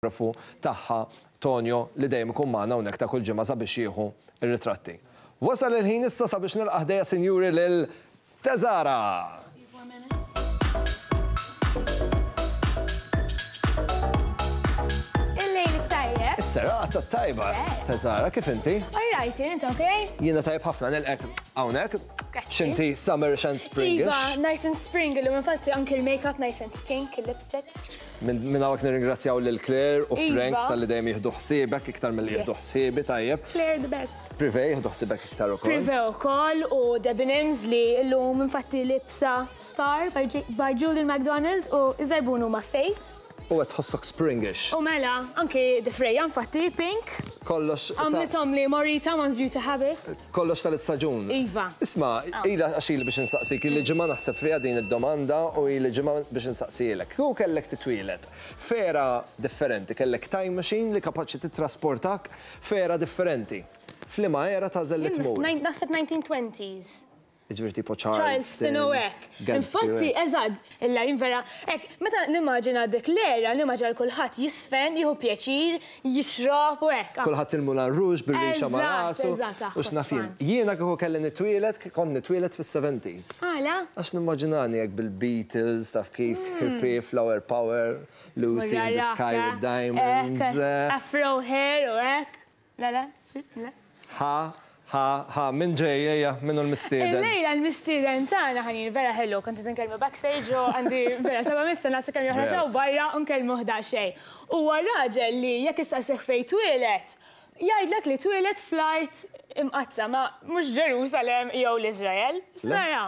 Il-fotografu tagħha Tonio li dejjem ikun magħna hawnhekk ta' kull ġimgħa sabiex jieħu r-ritratti. Wasal il-ħin issa sabiex nilqa' ħdejja sinjuri lil Teżara! Il-lejl it-tajjeb. Is-serata t-tajba. Teżara, kif inti? All right, int okay? Jiena tajjeb ħafna nilqek hawnhekk. X'inti summerish and springish? Iva, nice and spring illum infatti anki l-makeup nice and pink, il-lipstick. Minn hawnhekk nirringrazzjaw lil Claire u Frank iva. tal-li dejjem jieħdu ħsiebek iktar milli jieħdu ħsiebi tajjeb. Claire the best. Privé jieħdu ħsiebek iktar ukoll. Privé ukoll u Debenhams li llum infatti libsa Star by Julian McDonald u iżarbun huma Faith. U qed tħossok springish. U mela, anki difrejja infatti pink. Kollox. Għamlithom li Morita ma' Beauty Habits. Kollox tal-istaġun. Iva. Isma', ilha għax ili biex insaqsik, ili ġimgħa naħseb fiha din id-domanda u ili ġimgħa biex insaqsihielek. Kieku kellek titwieled f'era differenti, kellek time machine li kapaċi tittrasportak f'era differenti, f'liema era tagħżel li tmur? Naħseb 1920s. Jiġifieri tipo Charleston u hekk. Infatti, eżatt, illa jien vera, hekk, meta nimmaġina dik l-era, nimmaġina lil kulħadd jiżfen, jieħu pjaċir, jixrob u hekk. Kulħadd il-Moulin Rouge bir-rixa ma' rasu. Eżatt, eżatt, U x'naf jien. Jiena kieku kelli nitwieled, kont nitwieled fis-seventies. Għala? Għax nimmaġinani hekk bil-Beatles, taf kif, hippie, flower power, Lucy in the sky with diamonds. Afro hair u hekk. Le, le, xi, le. Ha, ha, ha, min ġej, ejja, min hu l-mistieden? Illejla l-mistieden tagħna ħanin vera ħelu, kont qed inkellmu backstage u għandi vera 700 sena sakemm joħroġ hawn barra u nkellmuh daqsxejn. Huwa raġel li jekk issaqsih fejn twieled, jgħidlek li twieled fl-Art Imqaddsa, ma mhux Ġerusalem jew l-Iżrael. Nara.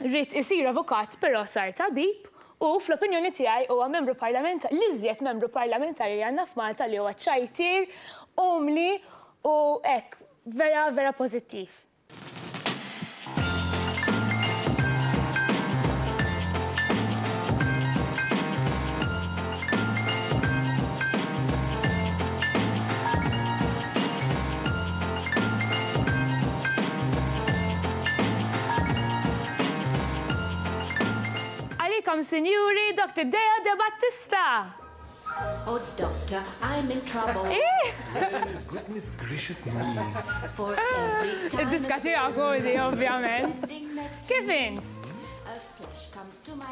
Ried isir avukat però sar tabib u fl-opinjoni tiegħi huwa membru parlamentari, l-iżjed membru parlamentari li għandna f'Malta li huwa ċajtier, umli u hekk vera vera pożittiv. Għalikom sinjuri Doctor Deo De Battista! Oh doctor, I'm in trouble. Goodness gracious me. For every time Id-diska tiegħek Odi, ovvjament. Kif int?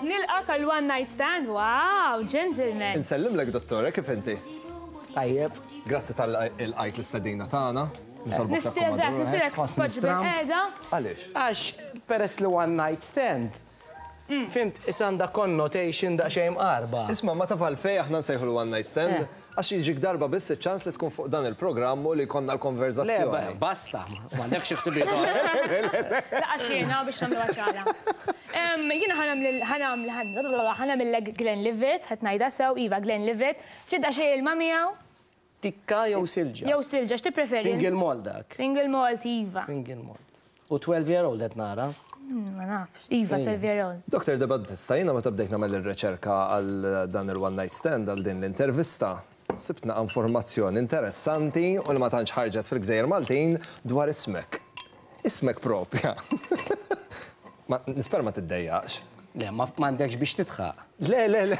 Nilqak għal one night stand, wow, gentleman. Insellimlek dottore, kif inti? Tajjeb. Grazzi tal-ilqajt l-istedina tagħna. Nitolbok Nistiedek, nistiedek tpoġġi bil-qiegħda. Għaliex? Għax peress li one night stand, fimt, issa għandha connotation daqsxejn mqarba. Isma' ma taf għalfejn aħna nsejħulu one night stand? Għax jiġik darba biss iċ-ċans li tkun fuq dan il-programm u li jkollna l-konverżazzjoni. Le, basta, m'għandekx xi ħsibijiet oħra. Lanqas jiena biex nagħmluha ċara. Jiena ħa nagħmillek Glenlivet, ħadd ngħidha sew, iva Glenlivet. Trid daqsxejn ilma miegħu? Tikka jew silġa? Jew silġa, x'tippreferi? Single malt dak. Single malt, iva. Single malt. U 12 year old qed nara. Ma nafx, iva 12 year old. Doctor De Battista, jiena meta bdejt nagħmel ir-riċerka għal dan il-one night stand, għal din l-intervista, sibt naqa' informazzjoni interessanti u li ma tantx ħarġet fil-gżejjer Maltin dwar ismek. Ismek propja. Ma, nispera ma tiddejjaqx. Le, ma m'għandekx biex tidħaq. Le, le, le.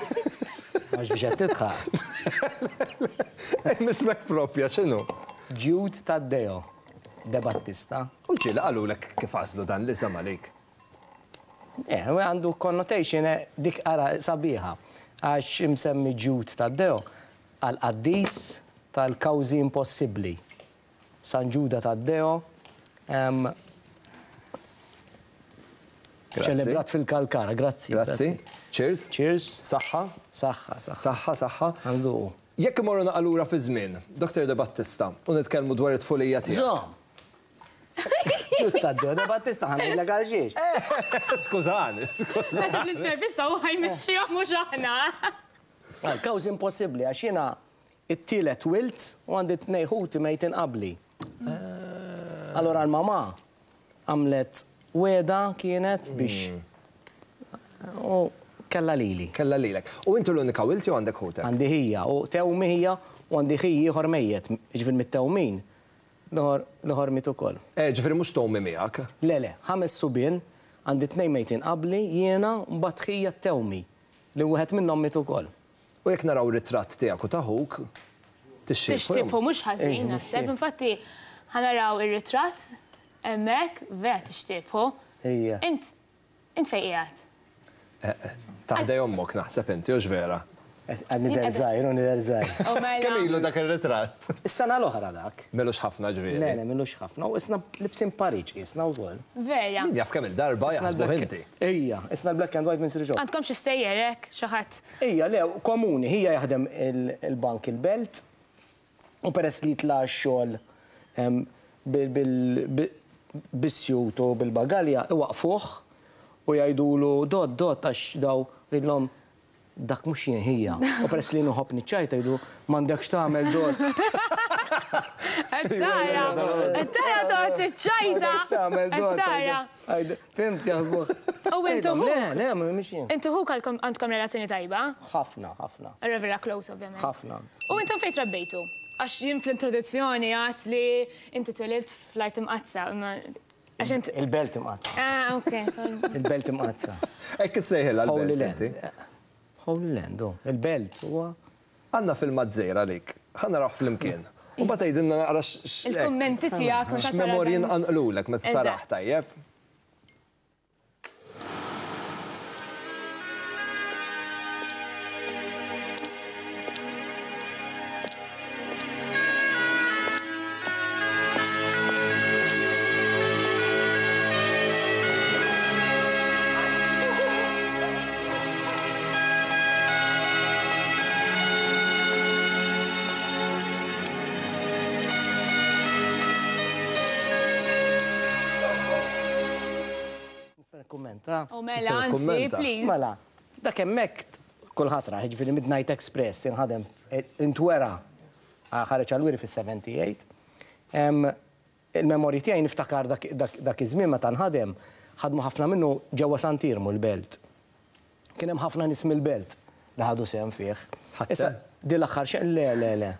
Mhux biex qed tidħaq. Le, le. Ismek propja x'inhu? Jude Taddeo. De Battista. U ġieli qalulek kif għażlu dan l-isem għalik? Eh, għandu connotation eh, dik ara sabiħa. Għax imsemmi Ġud Taddeo għal qaddis tal-kawżi impossibbli. San Ġuda Taddeo ċelebrat fil-Kalkara. Grazzi. Grazzi. Cheers. Cheers. Saħħa. Saħħa, saħħa. Saħħa, saħħa. Għanduqu. Jekk immorru naqa' lura fiż-żmien, Doctor De Battista, u nitkellmu dwar it-tfulija tiegħek. Żomm! Ġud Taddeo De Battista ħa ngħidlek għal xiex. Skużani, skużani. Meta fl-intervista hu ħa jmexxiha mhux aħna. Kawżi impossibbli għax jiena t-tielet wild u għandi tnejn ħuti mejtin qabli. Allura l-mamà Għamlet wegħda kienet biex u kellha lili. Kellha lilek. U inti l-unika wild jew għandek ħutek? Għandi ħija u tewmi ħija u għandi ħi ieħor mejjet, jiġifieri mit-tewmin l-ieħor l-ieħor miet ukoll. Eh, ġifieri mhux tewmi miegħek? Le, le, ħames subien, għandi tnejn mejtin qabli, jiena, u mbagħad ħija t-tewmi, li wieħed minnhom miet ukoll. U jekk naraw ritratt tiegħek u ta' ħuk, tixxiebħu. Tixtiebħu mhux ħażin naħseb. Infatti ħa naraw ir-ritratt hemmhekk, vera tixtiebħu. Ejja. Int int fejn qiegħed? Ta' ħdej ommok naħseb inti, hux vera? Għad nidher żgħir, u nidher żgħir. Kemm ilu dak ir-ritratt? Is-sena l-oħra dak. M'ilux ħafna ġifieri. Le, le, m'ilux ħafna. U isna libsin pariġ qisna wkoll. Vera. Min jaf kemm il-darba jaħsbuh inti. Ejja, isna l-black and white minn Sir Joe. Għandkom xi stejjer hekk, xi ħadd? Ejja, le, komuni, ħija jaħdem il-bank il-belt u peress li jitla' għax-xogħol bis-sjut u bil-bagalja, iwaqqfuh u jgħidulu dott, dott għax daw jgħidilhom Dak mhux jien ħija. U peress li jien inħobb niċċajta jgħidu m'għandekx tagħmel dor. Qed tara, qed tara toqgħod tiċċajta. M'għandekx tagħmel dor. Qed tara. Fimt jaħsbuh. U intu ħuk. Le, le, mhux jien. Intu ħuk għandkom relazzjoni tajba? Ħafna, ħafna. Allura vera close ovvjament. Ħafna. U intom fejn trabbejtu? Għax jien fl-introduzzjoni għedt li inti twelidt fl-Art Imqaddsa, imma Għax int. Il-Belt Imqaddsa. Ah, ok. Il-Belt Imqaddsa. Hekk issejħilha l-belt. Holy Land. Holy Land, oh. Il-belt huwa. Għandna filmat żgħir għalik. Ħa narawh flimkien. U mbagħad tgħidilna naqra x'. Il-kummenti tiegħek meta tara. X'memorji nqanqlulek meta tarah tajjeb. Nista' nikkummenta? U mela, anzi, please. Mela, dak hemmhekk kulħadd rah, jiġifieri Midnight Express inħadem intwera ħareġ għall-wiri fis-78. Il-memorji tiegħi niftakar dak iż-żmien meta nħadem, ħadmu ħafna minnu ġewwa Sant'Iermu l-Belt. Kien hemm ħafna nies mill-Belt li ħadu sehem fih. Ħadt sehem? Din l-aħħar xena, le, le, le.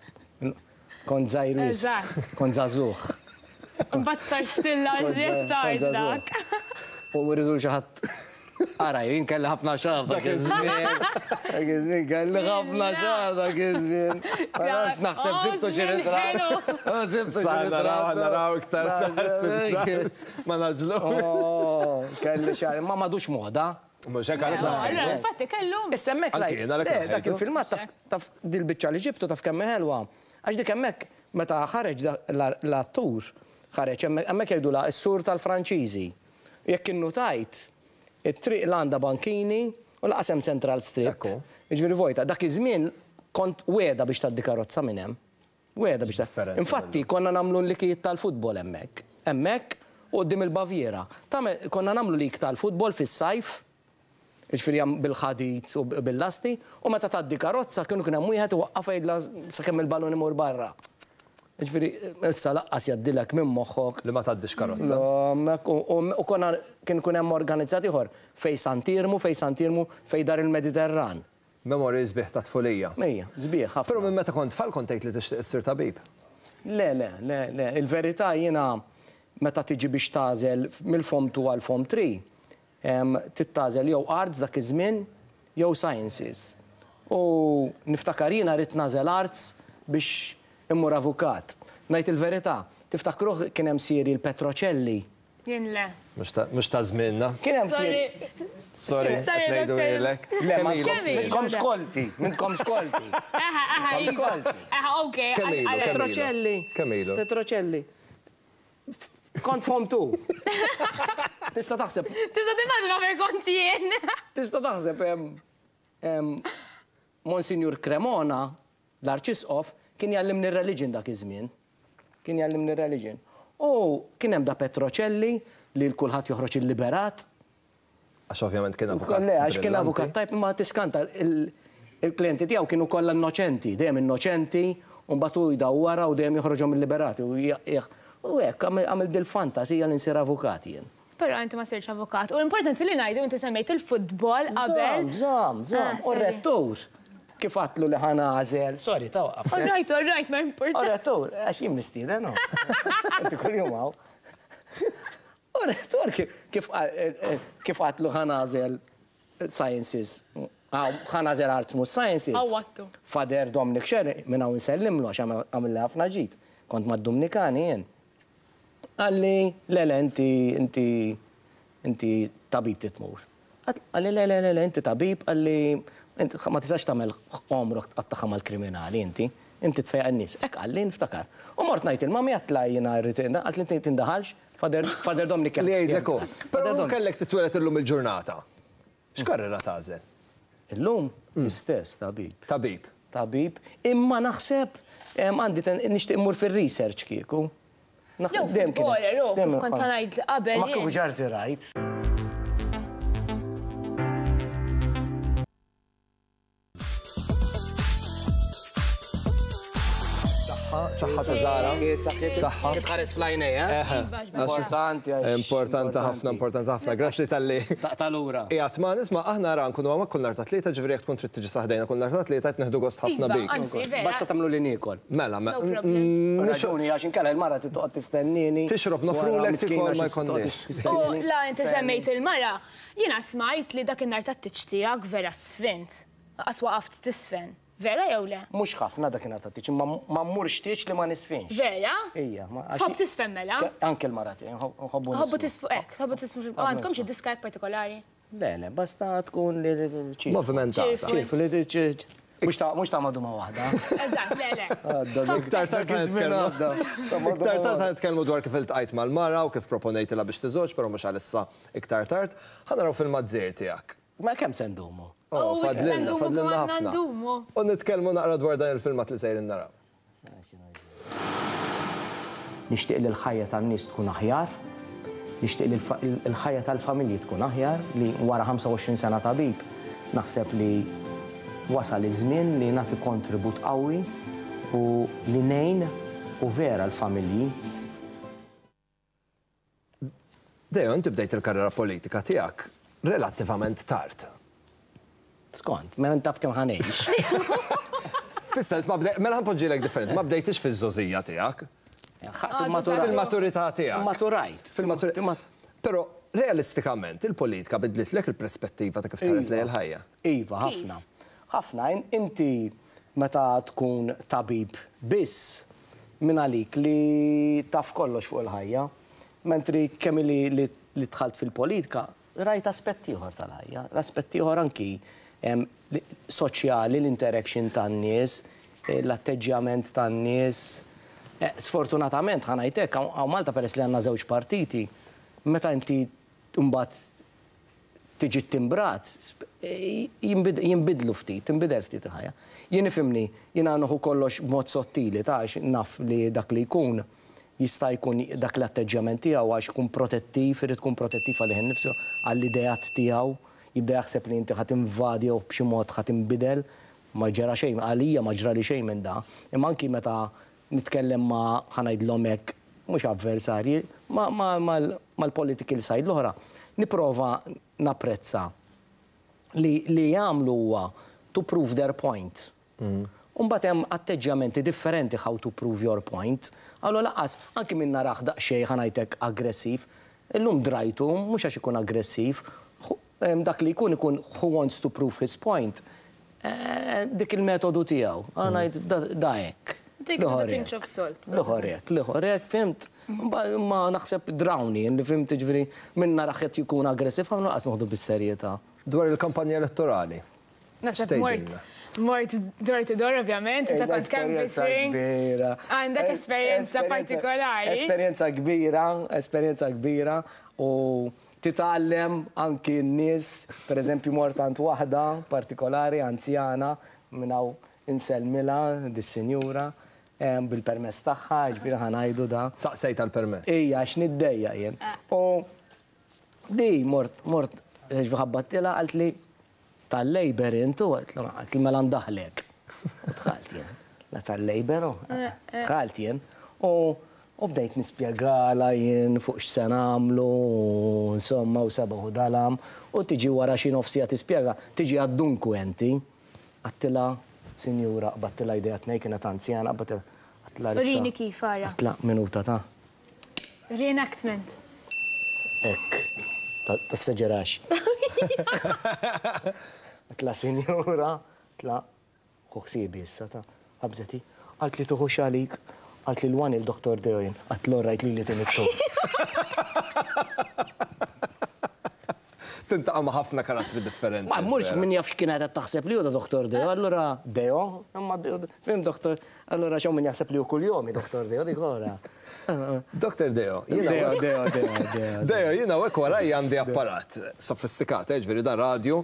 Kont żgħir wisq. Eżatt. Kont żagħżugħ. Imbagħad sar stilla iżjed tard dak. U rridu xi ħadd Ara, jien kelli ħafna xagħar dak iż-żmien. Dak iż-żmien kelli ħafna xagħar dak iż-żmien. Ma nafx naħseb sibtu xi ritratt. Sibtu xi ritratt. Naraw iktar tard. Ma naġlu. Oh, kelli xagħar, ma m'għadux moda. Mhux hekk għalhekk Allura, infatti kellu. Issa hemmhekk dak il-filmat taf dil-biċċa li ġibtu taf kemm ħelwa. Għax dik hemmhekk meta ħareġ l-attur, ħareġ hemmhekk jgħidulha s-sur tal-Franċiżi. Jekk innutajt, it-triq la għandha bankini u lanqas hemm central strip. Ekku. Jiġifieri vojta. Dak iż-żmien kont wegħda biex tgħaddi karozza minn hemm. Wegħda biex Differenti Infatti konna nagħmlu l-likijiet tal-futbol hemmhekk. Hemmhekk u quddiem il-Baviera. Tagħmel konna nagħmlu lig tal-futbol fis-sajf. Jiġifieri hemm bil-ħadid u bil-lasti, u meta tgħaddi karozza kienu kien hemm wieħed iwaqqafha jgħidilha sakemm il-ballun imur barra. Jiġifieri issa laqqas jgħaddilek minn moħħok. Li ma tgħaddix karozza. Hemmhekk u konna kien ikun hemm organizzat ieħor fejn Sant'Iermu, fejn Sant'Iermu, fejn Dar il-Mediterran. Memorji sbieħ ta' tfulija. Ejja, sbieħ ħafna. Però minn meta kont tfal kont tgħid li tixtieq issir tabib? Le, le, le, le. Il-verità jiena meta tiġi biex tagħżel mill-Form 2 għall-Form 3, Trid tagħżel jew Arts dak iż-żmien jew Sciences. U niftakar jiena ridt nagħżel Arts biex immur avukat. Ngħid il-verità, tiftakruh kien hemm serial Petrocelli? Jien le. Mhux ta' żmienna. Kien hemm serial. Sorry, qed ngħiduhielek. Le, ma m'intkomx kolti, m'intkomx kolti. Eħe, eħe, iva. Eħe, okej. Kemm ilu? Petrocelli. Kemm ilu? Petrocelli. Kont fomtu. Tista' taħseb. Tista' timmaġina fejn kont jien. Tista' taħseb Monsinjur Cremona, l-Arċisqof, kien jgħallimni r-religion dak iż-żmien. Kien jgħallimni r-religion. U kien hemm da Petrocelli li l kulħadd joħroġ illiberat. Għax ovvjament kien avukat. Le, għax kien avukat tajb, imma tiskanta il-klijenti tiegħu kienu kollha innoċenti, dejjem innoċenti, u mbagħad hu jdawwarha u dejjem joħroġhom illiberati. U hekk għamilt dil-fantasija li nsir avukat jien. Però inti ma sirtx avukat. U importanti li ngħidu inti semmejt il-futbol qabel. Żomm, żomm, żomm. U r-rettur kif għadtlu li ħa nagħżel, sorry, tawqaf. All right, all right, ma importanx. U r-rettur, għax jien mistieden, Inti kuljum hawn. U r-rettur kif kif għadtlu ħa nagħżel sciences. Ħa nagħżel Arts mhux Sciences. Għawwadtu. Father Dominic Scerri, minn hawn insellimlu għax għamilli ħafna ġid. Kont mad-Dumnikani jien. Qalli, le le inti inti inti tabib trid tmur. Qalli le le le le inti tabib, qalli int ma tistax tagħmel għomrok tqattagħha mal-kriminali inti. Inti tfejjaq in-nies. Hekk qalli niftakar. U mort ngħid il-mami għedtlha jiena rrid qaltli inti tindaħalx, Father Father Dominic Li jgħidlek hu. Però kellek titwieled illum il-ġurnata. X'karriera tagħżel? Illum l-istess tabib. Tabib. Tabib, imma naħseb għandi nixtieq immur fir-research kieku. Jew footballer, hu, kif kont ngħid qabel. Ma kieku ġarti rajt. Saħħa ta' Zara. Saħħa. Tħares fl-għajnej, eh? Importanti. Importanti ħafna, importanti ħafna. Grazzi talli. Taqta' lura. Qiegħed ma' nisma' aħna ra nkunu hawnhekk kull nhar ta' Tlieta, ġifieri jekk tkun trid tiġi sa ħdejna kull nhar ta' Tlieta qed nieħdu gost ħafna bik. Basta tagħmlu li niekol. Mela, mela. Raġuni għax inkella l-mara trid toqgħod tistennini. Tixrob nofrulek tikol ma jkollniex. U la inti semmejt il-mara, jiena smajt li dakinhar tat-tieġ tiegħek vera sfint. Lanqas waqaft tisfen. Vera jew le? Mhux ħafna dakinhar tat-tieġ, imma ma mmurx tieġ li ma nisfinx. Vera? Ija. Tħobb tisfen mela? Anke l-mara tiegħi, nħobbu nisfnu. Tħobbu tisfu hekk, tħobbu tisfnu. Għandkom xi diska hekk partikolari? Le, le, basta tkun li ċirfu. Movimentata. Ċirfu li mhux ta' mhux ta' maduma waħda. Eżatt, le, le. Iktar tard Iktar tard ħa nitkellmu dwar kif iltqajt mal-mara u kif proponejtilha biex tiżgħoġ, però mhux għalissa iktar tard. Ħa naraw filmat żgħir tiegħek. Ma kemm se ndumu? Oh, fadlilna, fadlilna ħafna. U nitkellmu naqra dwar dan il-filmat li sejrin naraw. Nixtieq li l-ħajja tan-nies tkun aħjar, nixtieq li l-ħajja tal-familji tkun aħjar, li wara 25 sena tabib naħseb li wasal iż-żmien li nagħti kontribut qawwi u li ngħin u vera l-familji. Deo, inti bdejt il-karriera politika tiegħek relattivament tard. Skont, mela int taf kemm ħa ngħix. Fis-sens ma bdej, mela ħa npoġġilek differenti, ma bdejtix fiż-żgħożija tiegħek. Fil-maturità tiegħek. Maturajt. Fil-maturità. Però realistikament il-politika bidlitlek il-prespettiva ta' kif tħares lejn il-ħajja. Iva, ħafna. Ħafna. Inti meta tkun tabib biss, mingħalik li taf kollox fuq il-ħajja. Mentri kemm ili li dħalt fil-politika, rajt aspett ieħor tal-ħajja, l-aspett ieħor anki soċjali, l-interaction tan-nies, l-atteġġjament tan-nies. Sfortunatament, ħa ngħid hekk, hawn Malta peress li għandna żewġ partiti, meta inti mbagħad tiġi ttimbrat, jinbidlu ftit, tinbidel ftit il-ħajja. Jien ifhimni, jiena nieħu kollox b'mod sottili ta' għax naf li dak li jkun jista' jkun dak l-atteġġjament tiegħu għax ikun protettiv, irid ikun protettiv għalih innifsu, għall-ideat tiegħu, jibda jaħseb li inti ħa tinvadi jew b'xi mod ħa tinbidel. Ma ġara xejn, għalija ma ġrali xejn minn da. Imma anki meta nitkellem ma', ħa ngħidlhom hekk, mhux avversarji, ma' mal-political side l-oħra, nipprova napprezza li li jagħmlu huwa to prove their point. U mbagħad hemm atteġġjamenti differenti how to prove your point. Allura lanqas, anki min narah daqsxejn, ħa ngħid hekk, aggressiv, illum drajtu mhux għax ikun aggressiv, dak li jkun ikun who wants to prove his point, Dik il-metodu tiegħu. Għana ngħid da hekk. Take it with a pinch of salt. L-ieħor hekk, l-ieħor hekk, fhimt? Ma naħseb drawni, li fhimt jiġifieri min narah qed jkun aggressiv ħafna lanqas noħdu bis-serjetà. Dwar il-kampanja elettorali. Naħseb mort mort door to door ovvjament, inta kont canvassing. Għandek esperjenza partikolari. Esperjenza kbira, esperjenza kbira u Titgħallem anki n-nies, per eżempju mort għand waħda partikolari, anzjana, minn hawn insellmilha dis-sinjura, bil-permess tagħha, jiġifieri ħa ngħidu da. Saqsejtha l-permess? Ija, għax niddejjaq jien. U di mort, mort, jiġifieri ħabbattilha qaltli, Tal-Labour int u? Għedtlu, qaltli mela ndaħħlek. U dħalt jien. La tal-Labour hu. Dħalt jien. U u bdejt nispjegalha jien fuq x'se nagħmlu u insomma u sebaħ u dalam. U tiġi wara xi nofs siegħa tispjega, tiġi għad-dunkwenti. Għedtilha, sinjura, qbadtilha jdejha tnejn, kienet anzjana, qbadtilha, għedtilha issa. Urini kif, ara. Għedtilha, minuta ta'. Reenactment. Hekk. Tassaġerax. Għedtla sinjura, għedtla ħu ħsiebi issa ta. Qabżet hi. Qaltli tuħux għalik. Qaltli l-one il Dottor Deo jien. Għedtlu all right lili tini t-tu. Tintaqa' ma' ħafna karattri differenti. Ma mmurx min jaf x'kienet qed taħseb li hu da Dottor Deo, allura Deo, imma fim Dottor, allura x'hawn min jaħseb li hu kuljomi Dottor Deo dik ora. Dottor Deo, jiena. Deo, Deo, Deo, Deo. Deo, jiena hawnhekk warajja għandi apparat sofistikat, eh, ġifieri dan radju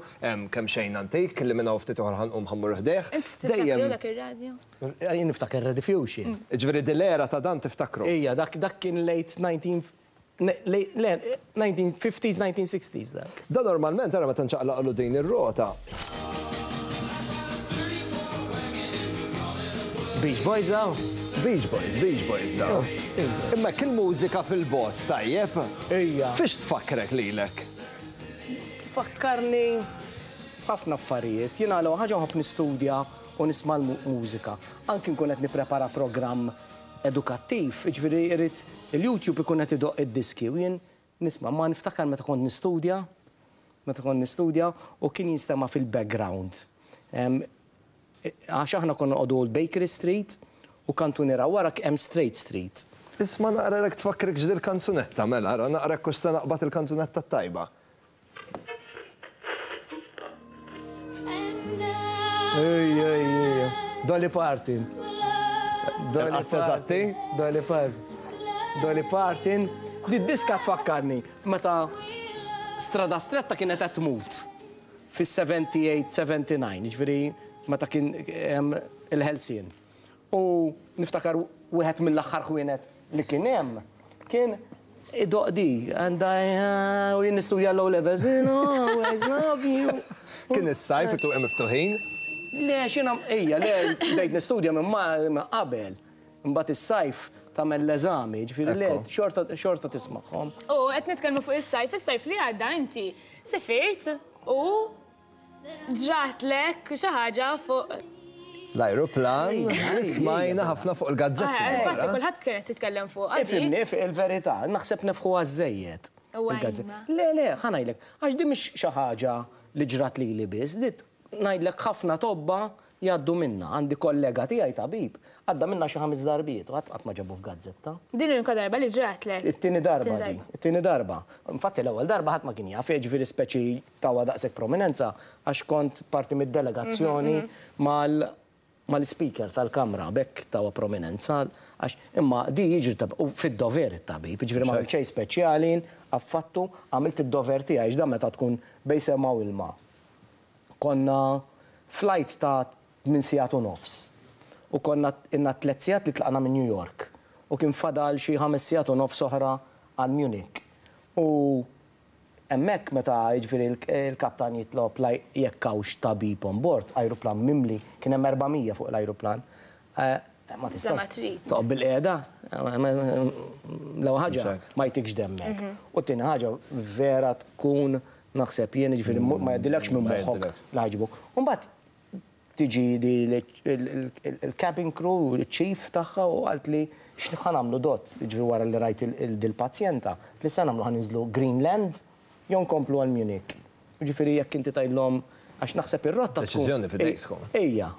kemxejn antik li minn hawn ftit ieħor ħa nqum ħa mmur ħdejh. Int tiftakru dak ir-radju? Jien niftakar Rediffusion. Ġifieri din l-era ta' dan tiftakru? Ija, dak kien late 19 Le, 1950s, 1960s dak. Da normalment ara meta nċaqlaqlu din ir-rota. Beach Boys daw? Beach Boys, Beach Boys daw. Imma hekk il-mużika fil-bogħod tajjeb? Ejja. Fiex tfakkrek lilek? Tfakkarni f'ħafna affarijiet. Jiena l-ewwel ħaġa nħobb nistudja u nisma' l-mużika. Anki nkun qed nipprepara programm edukattiv, jiġifieri jrid il-YouTube ikun qed idoqq id-diski u jien nisma'. Ma niftakar meta kont nistudja, meta kont nistudja u kien jinstema' fil-background. Għax aħna konna noqogħdu Old Bakery Street u kantuniera wara hemm Straight Street. Isma' naqra jekk tfakkrikx dil-kanzunetta, mela ara naqra jekk hux se naqbad il-kanzunetta t-tajba. Ej, ej, ej. Dolly Parton. Dolly Parton. Dolly Parton. Dolly Parton. Di diska tfakkarni meta Strada Stretta kienet qed tmut fis-78, 79, ġifieri meta kien il-ħelsien. U niftakar wieħed mill-aħħar ħwienet li kien hemm kien idoqq di and I u jien nistudja l-O levels will always love you. Kien is-sajf it-twieqi miftuħin? Le, x'jiena ejja, le bdejt nistudja minn qabel. Imbagħad is-sajf tagħmel l-eżami, jiġifieri le xorta xorta tismagħhom. U qed nitkellmu fuq is-sajf, is-sajf li għadda inti sifirt u Ġratlek xi ħaġa fuq. L-ajruplan li smajna ħafna fuq il-gazzetti. Eh, infatti kulħadd kien qed jitkellem fuqha. Ifhimni, il-verità, naħseb nefħuha żżejjed. Le, le, ħa ngħidlek, għax din mhix xi ħaġa li ġrat lili biss, di ngħidlek ħafna tobba jgħaddu minnha. Għandi kollega tiegħi tabib, għadda minnha xi ħames darbiet u ħadd qatt ma ġabu f'gazzetta. Din l-unika darba li ġratlek? It-tieni darba din, it-tieni darba. Infatti l-ewwel darba ħadd ma kien jaf, jiġifieri speċi tawha daqshekk prominenza għax kont parti mid-delegazzjoni mal mal-Ispeaker tal-Kamra, b'hekk tawha prominenza għax imma di jiġri ta' u fid-dover it-tabib, jiġifieri ma għamilt xejn speċjali jien affattu, għamilt id-dover tiegħi għax dan meta tkun bejn sema u ilma. Konna flight ta' tmien sigħat u nofs u konna ilna tliet sigħat li tlaqna minn New York u kien fadal xi ħames sigħat u nofs oħra għal Munich u Hemmhekk meta jiġifieri l-kaptan jitlob jekk hawnx tabib on board, ajruplan mimli, kien hemm 400 fuq l-ajruplan, ma tistax toqgħod bilqiegħda. L-ewwel ħaġa ma jtikx demmek. U t-tieni ħaġa vera tkun naħseb jien jiġifieri ma jgħaddilekx minn moħħok li ħa jġibuk. U mbagħad tiġi l-cabin crew, il-chief tagħha u qaltli x'ħa nagħmlu dott, jiġifieri wara li rajt dil-pazjenta, qaltli x'se nagħmlu ħa ninżlu Greenland jew nkomplu għal Munich. Jiġifieri jekk inti tgħidlhom għax naħseb ir-rotta tkun. Deċiżjoni f'idejk tkun. Ejja.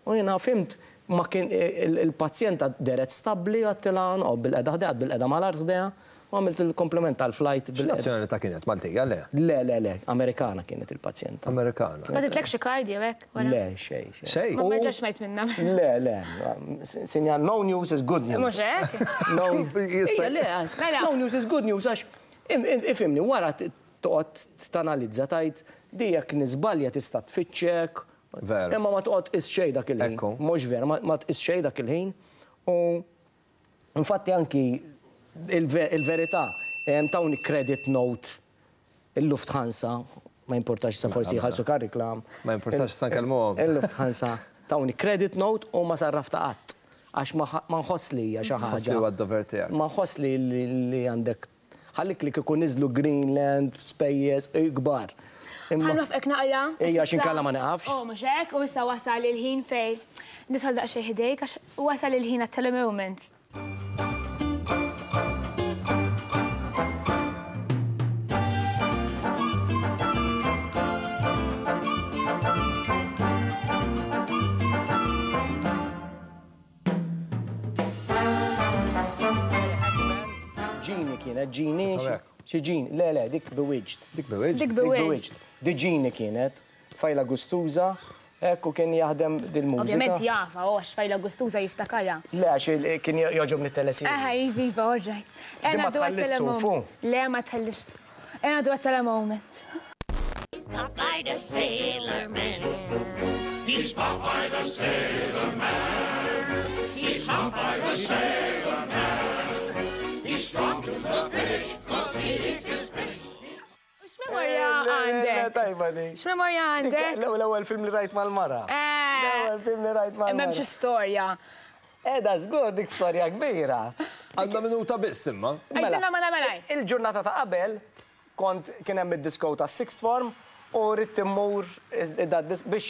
U jiena fhimt ma kien il-pazjenta dehret stabbli għedtilha noqgħod bilqiegħda ħdejha, qgħadt bilqiegħda mal-art ħdejha U għamilt il-komplement tal-flight bil. X'nazzjonalità kienet? Maltija, le? Le, le, le, Amerikana kienet il-pazjenta. Amerikana. Bagħtitlek xi card jew hekk wara? Le, xejn, xejn. Xejn? Ma rġax smajt minnha. Le, le, sinjal no news is good news. Mhux hekk? No, ejja, le, no news is good news għax ifhimni wara toqgħod tanalizza tgħid di jekk niżbalja tista' tfittxek. Vera. Imma ma toqgħod tqis xejn dak il-ħin. Ekku. Mhux vera, ma tqis xejn dak il-ħin u Infatti anki il-verità, tawni credit note il-Lufthansa, ma jimpurtax issa forsi jħallsu kariklam. Ma jimpurtax issa nkellmuhom. Il-Lufthansa tawni credit note u ma sarraftha qatt. Għax ma nħoss li hija xi ħaġa. Tħoss li huwa d-dover tiegħek. Ma nħoss li għandek Ħallik li kieku niżlu Greenland, spejjeż kbar. Ħa nwaffqek naqra. Ejja għax inkella ma nieqafx. Oh, mhux hekk, u issa wasal il-ħin fejn nidħol daqsxejn ħdejk għax wasal il-ħin għat-telemoment. Ġini kienet, Ġini. Xi Ġini, le, le, dik Bewitched. Dik Bewitched? Dik Bewitched. Di Ġini kienet, tfajla gustuża, hekk u kien jaħdem dil-mużika. Ovvjament jafha, oh, għax tfajla gustuża jiftakarha. Le, għax kien jogħġobni t-teleserje. Aha, iva, iva, all right. Din ma tħallix suf, hu? Le, ma tħallix suf. Ejja ngħaddu għat-telemoment. He's Popeye the Sailor Man. He's Popeye the Sailor Man. He's Popeye the Sailor Man. He's strong to the finish, cause he eats his spinach. X'memorja għandek? Tajba di. X'memorja għandek? L-ewwel film li rajt mal-mara. L-ewwel film li rajt mal-mara. M'hemmx storja. Eda żgur dik storja kbira. Għandna minuta biss imma. Għidilna mela mela. Il-ġurnata ta' qabel kont kien hemm id-disco tas-sixth form u ridt immur biex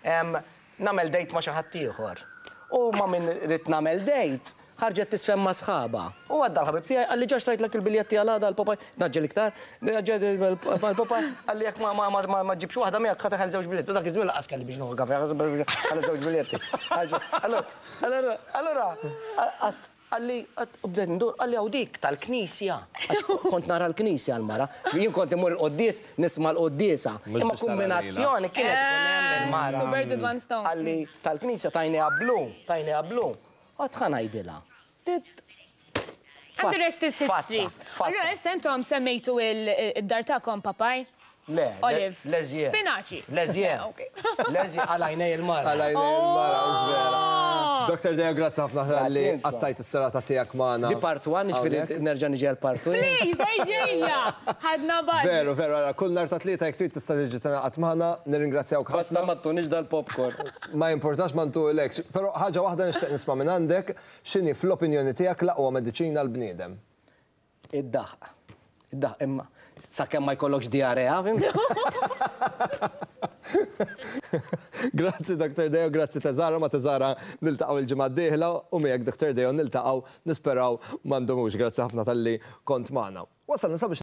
nagħmel date ma' xi ħadd ieħor. U ma' min ridt nagħmel date, ħarġet tiżfen ma' sħabha. U għadda l-ħabib tiegħi qalli ġa xtrajtlek il-biljetti għal għada għall-Popeye, naġġel iktar, għall-Popeye, qalli jekk ma ġġibx waħda miegħek ħa teħel żewġ biljetti. U dak iż-żmien lanqas kelli biex nieħu kafè, ħalli żewġ biljetti. Allura, allura, qatt Qalli, u bdejt ndur, qalli hawn dik tal-knisja. Għax kont nara l-knisja l-mara. Jien kont immur il-quddies, nisma' l-quddiesa. Imma kumbinazzjoni kienet ikun hemm il-mara. Two birds with one stone. Qalli tal-knisja tajniha blu, tajniha blu. Għad ħa ngħidilha. And the rest is history. Allura issa intom semmejtu id-dar tagħkom Popeye? Le, Olive. Leżje. Spinaċi. Leżje. Leżje għal għajnej il-mara. Għal għajnej il-mara, mhux vera. Dr. Deo, grazzi ħafna li qattajt is-serata tiegħek magħna. Di part 1, jiġifieri nerġa' niġi għal part 2. Please, erġejja! Ħadna buzz. Veru, veru, ara, kull nhar ta' Tlieta jekk trid tista' tiġi tingħaqad magħna, nirringrazzjawk ħafna. Basta ma ttunix dal-popcorn. Ma jimpurtax ma ntuhulekx. Però ħaġa waħda nixtieq nisma' minn għandek, x'inhi fl-opinjoni tiegħek l-aqwa mediċina għall-bniedem? Id-daħq. Id-daħq imma sakemm ma jkollokx diarrea, fhimt? Grazzi Dr. Deo, grazzi Teżara, ma' Teżara niltaqgħu il-ġimgħa d-dieħla u miegħek Dr. Deo niltaqgħu nisperaw ma ndumux. Grazzi ħafna talli kont magħna. Wasalna sabiex.